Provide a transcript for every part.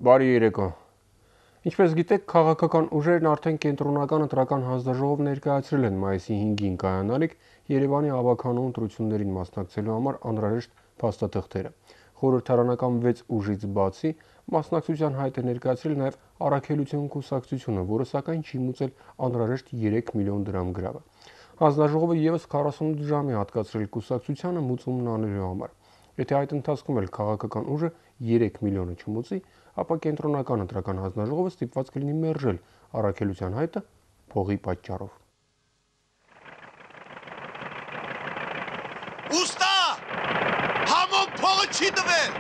Բարի երեկո։ Ինչպես գիտեք, քաղաքական ուժերն արդեն կենտրոնական ընտրական հանձնաժողով ներկայացրել են մայիսի 5-ին կայանալիք Երևանի ավականու ընտրություններին մասնակցելու համար անհրաժեշտ փաստաթղթերը։ Խորհրդարանական 6 ուժից բացի մասնակցության հայտ է ներկայացրել նաև Առաքելություն կուսակցությունը, որը սակայն չի մուծել անհրաժեշտ 3 միլիոն դրամ գրավը։ Հանձնաժողովը եւս 48 ժամ է հատկացրել կուսակցությանը մուծումն անելու համար։ Եթե այդ ընթացքում էլ քաղաքական ուժը 3 միլիոնը չմուծի, ապա կենտրոնական ընտրական հանձնաժողովը ստիպված կլինի մերժել առաքելության հայտը փողի պատճառով։ Ուստա! Համոն փողը չի տվել։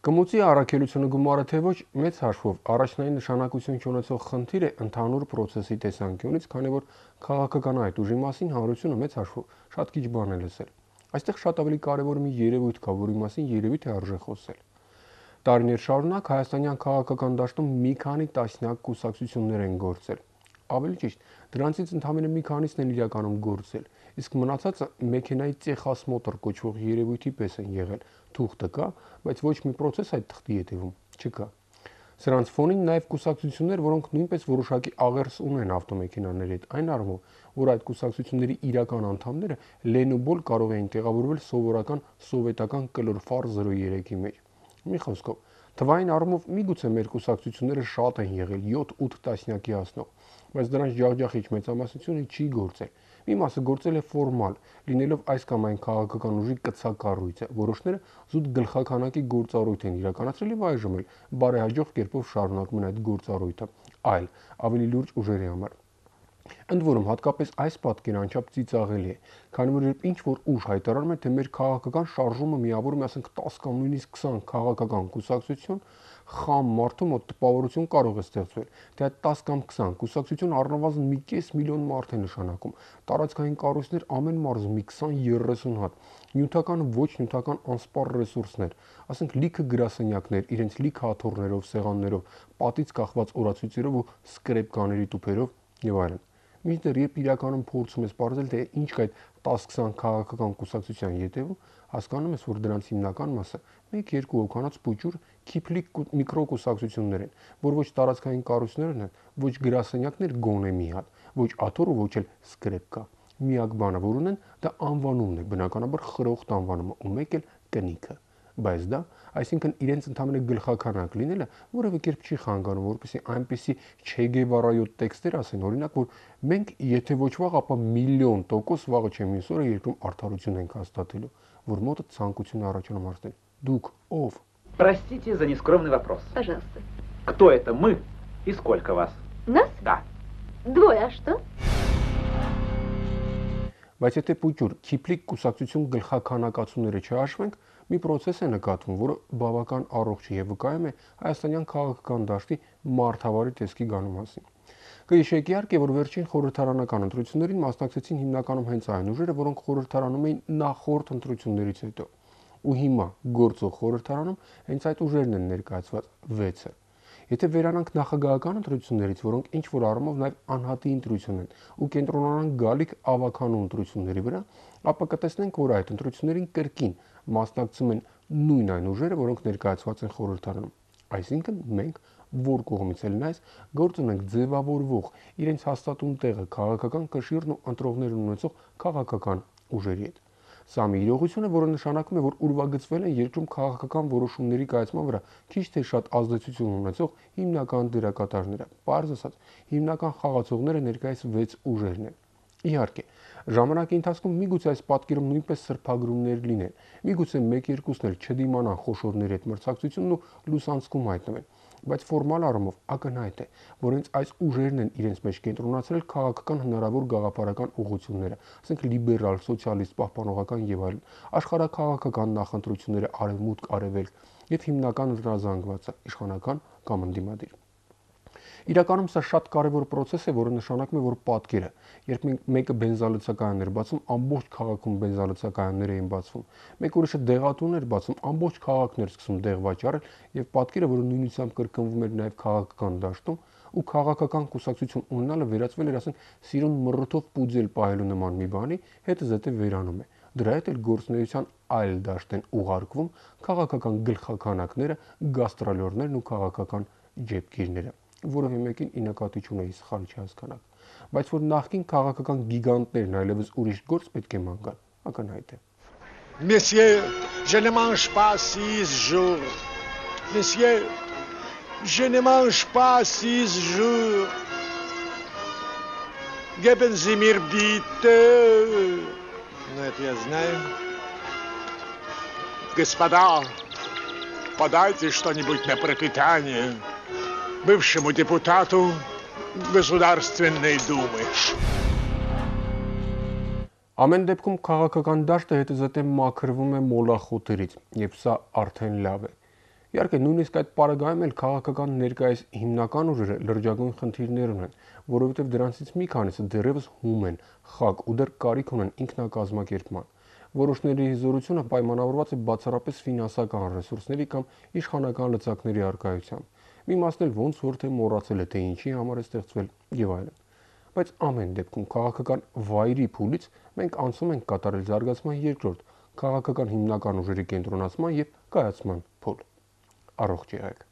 Կմուծի առաքելությունը գումարը թե ոչ, մեծ հաշվով առաջնային նշանակություն չունեցող խնդիր է ընդհանուր process-ի տեսանկյունից, քանի որ քաղաքական այդ ուժի մասին հանրությունը մեծ հաշվով շատ քիչ բան է լսել։ Այստեղ շատ ավելի կարևոր մի երևույթ կա, որի մասին երևի թե արժե խոսել։ Տարիներ շարունակ հայաստանյան քաղաքական դաշտում մի քանի տասնյակ կուսակցություններ են գործել։ Ավելի ճիշտ, դրանցից ընդամենը մի քանիսն են իրականում գործել, իսկ մնացածը մեքենայի ծեխասմոտր կոչվող երևույթի պես են եղել։ Թուղթը կա, բայց ոչ մի process այդ թղթի հետևում չկա։ Սրանց ֆոնին նաև կուսակցություններ, որոնք նույնպես որոշակի աղերս ունեն ավտոմեքենաների հետ, այն առումով, որ այդ կուսակցությունների իրական անդամները լենոբոլ կարող էին տեղավորվել սովորական սովետական կլոր-ֆար 03-ի մեջ։ Մի խոսքով, թվային առումով միգուցե մեր կուսակցությունները շատ են եղել 7-8 տասնյակի հասնող, բայց դրանց ջախջախիչ մեծամասնությունը չի գործել։ Մի մասը գործել է ֆորմալ, լինելով այս կամ այն քաղաքական ուժի կցակառույցը, որոշները զուտ գլխականակի գործառույթ են իրականացրել եւ այժմ էլ բարեհաջող կերպով շարունակում են այդ գործառույթը, այլ ավելի լուրջ ուժերի համար։ Ընդ որում, հատկապես այս պատկերը անչափ ծիծաղելի է, քանի որ երբ ինչ-որ ուժ հայտարարում է, թե մեր քաղաքական շարժումը միավորում է, ասենք 10 կամ նույնիսկ 20 քաղաքական կուսակցություն, խամ մարդու մոտ տպավորություն կարող է ստեղծվել, թե այդ 10 կամ 20 կուսակցություն առնվազն մի կես միլիոն մարդ է նշանակում, տարածքային կառույցներ ամեն մարզում մի 20-30 հատ, նյութական ոչ նյութական անսպառ ռեսուրսներ, ասենք լիքը գրասենյակներ, իրենց լիքը աթոռներով, սեղաններով, պատից կախված օրացույցերով ու սկրեպկաների տուփերով եւ այլն։ Մինչդեռ երբ իրականում փորձում ես պարզել, թե ինչ կա այդ 10-20 քաղաքական կուսակցության ետևում, հասկանում ես, որ դրանց հիմնական մասը 1-2 հոգանոց փուճուր քիփլիկ միկրոկուսակցություններ են, որ ոչ տարածքային կառույցներն են, ոչ գրասենյակներ գոնե մի հատ, ոչ աթոռ ու ոչ էլ սկրեպկա։ Միակ բանը, որ ունեն, դա անվանումն է, բնականաբար խրոխտ անվանումը, ու մեկ էլ կնիքը։ Բայց դա, այսինքն իրենց ընդամենը գլխականակ լինելը որևէ կերպ չի խանգարում, որպեսզի այնպեսի Չէ Գևարայոտ տեքստեր ասեն, օրինակ, որ մենք եթե ոչ վաղ, ապա միլիոն տոկոս վաղը չէ մյուս օրը երկրում արդարություն ենք հաստատելու, որ մոտը ցանկություն առաջանում հարցնել։ Դուք ով? Простите за нескромный вопрос. Пожалуйста. Кто это мы и сколько вас? Нас? Да. Двое, а что? Բայց եթե փուճուր քիփլիկ կուսակցություն գլխականակացումները չհաշվենք, մի process է նկատվում, որը բավական առողջ է եւ վկայում է հայաստանյան քաղաքական դաշտի մարդավարի տեսքի գանու մասին։ Կհիշեք իհարկե, որ վերջին խորհրդարանական ընտրություններին մասնակցեցին հիմնականում հենց այն ուժերը, որոնք խորհրդարանում էին նախորդ ընտրություններից հետո։ Ու հիմա գործող խորհրդարանում հենց այդ ուժերն են ներկայացված 6-ը։ Եթե վերանանք նախագահական ընտրություններից, որոնք ինչ որ առումով նաև անհատի ընտրություն են, ու կենտրոնանանք գալիք ավականու ընտրությունների վրա, ապա կտեսնենք, որ այդ ընտրություններին կրկին մասնակցում են նույն այն ուժերը, որոնք ներկայացված են խորհրդարանում։ Այսինքն մենք որ կողմից էլ նայես, գործ ունենք ձևավորվող իրենց հաստատուն տեղը քաղաքական կշիռն ու ընտրողներ ունեցող քաղաքական ուժերի հետ։ Սա մի իրողություն է, որը նշանակում է, որ ուրվագծվել են երկրում քաղաքական որոշումների կայացման վրա քիչ թե շատ ազդեցություն ունեցող հիմնական դերակատարները։ Պարզ ասած, հիմնական խաղացողները ներկայիս 6 ուժերն են։ Իհարկե, ժամանակի ընթացքում միգուցե այս պատկերում նույնպես սրբագրումներ լինեն, միգուցե 1-2-ն էլ չդիմանան խոշորների հետ մրցակցությունն ու լուսանցքում հայտնվեն, բայց ֆորմալ առումով ակնհայտ է, որ հենց այս ուժերն են իրենց մեջ կենտրոնացրել քաղաքական հնարավոր գաղափարական ուղղությունները, ասենք լիբերալ, սոցիալիստ, պահպանողական եւ այլն, աշխարհաքաղաքական նախընտրությունները արևմուտք, արևելք եւ հիմնական զրազանգվածը իշխանական կամ ընդդիմադիր։ Իրականում սա շատ կարևոր process է, որը նշանակում է, որ պատկերը, երբ մեկը բենզալցակայաններ բացում, ամբողջ քաղաքում բենզալցակայաններ էին բացվում, մեկ ուրիշը դեղատուներ բացում, ամբողջ քաղաքն էր սկսում դեղ վաճառել, եւ պատկերը, որը նույնությամբ կրկնվում էր նաեւ քաղաքական դաշտում, ու քաղաքական կուսակցություն ունենալը վերածվել էր, ասենք, սիրուն մռութով պուձել պահելու նման մի բանի, հետը զետե վերանում է։ Դրա հետ էլ գործունեության այլ դաշտ են ուղարկվում քաղաքական գլխաքանակները, գաստրոլորներն ու քաղաքական ջեբգիրները, որովի մեկին ի նկատի չունեի սխալ չհասկանաք, բայց որ նախկին քաղաքական գիգանտներն այլևս ուրիշ գործ պետք է ման գան, ակնհայտ է։ Messieurs, je ne mange pas 6 jours. Messieurs, je ne mange pas 6 jours. Geben Sie mir bitte. Нет, я знаю. Господа, подайте что-нибудь на пропитание бывшему депутату Գոսուդարստվեննեի դումը։ Ամեն դեպքում քաղաքական դաշտը հետզհետե մաքրվում է մոլախոտերից, եւ սա արդեն լավ է։ Իհարկե, նույնիսկ այդ պարագայում էլ քաղաքական ներկայիս հիմնական ուժերը լրջագույն խնդիրներ ունեն, որովհետեւ դրանցից մի քանիսը դեռևս հում են, խակ ու դեռ կարիք ունեն ինքնակազմակերպման։ Որոշների հզորությունը պայմանավորված է բացառապես ֆինանսական ռեսուրսների կամ իշխանական լծակների առկայությամբ։ Մի մասն էլ ոնց որ թե մոռացել է, թե ինչի համար է ստեղծվել եւ այլն։ Բայց ամեն դեպքում քաղաքական վայրի փուլից մենք անցում ենք կատարել զարգացման երկրորդ, քաղաքական հիմնական ուժերի կենտրոնացման եւ կայացման փուլ։ Առողջ եղեք։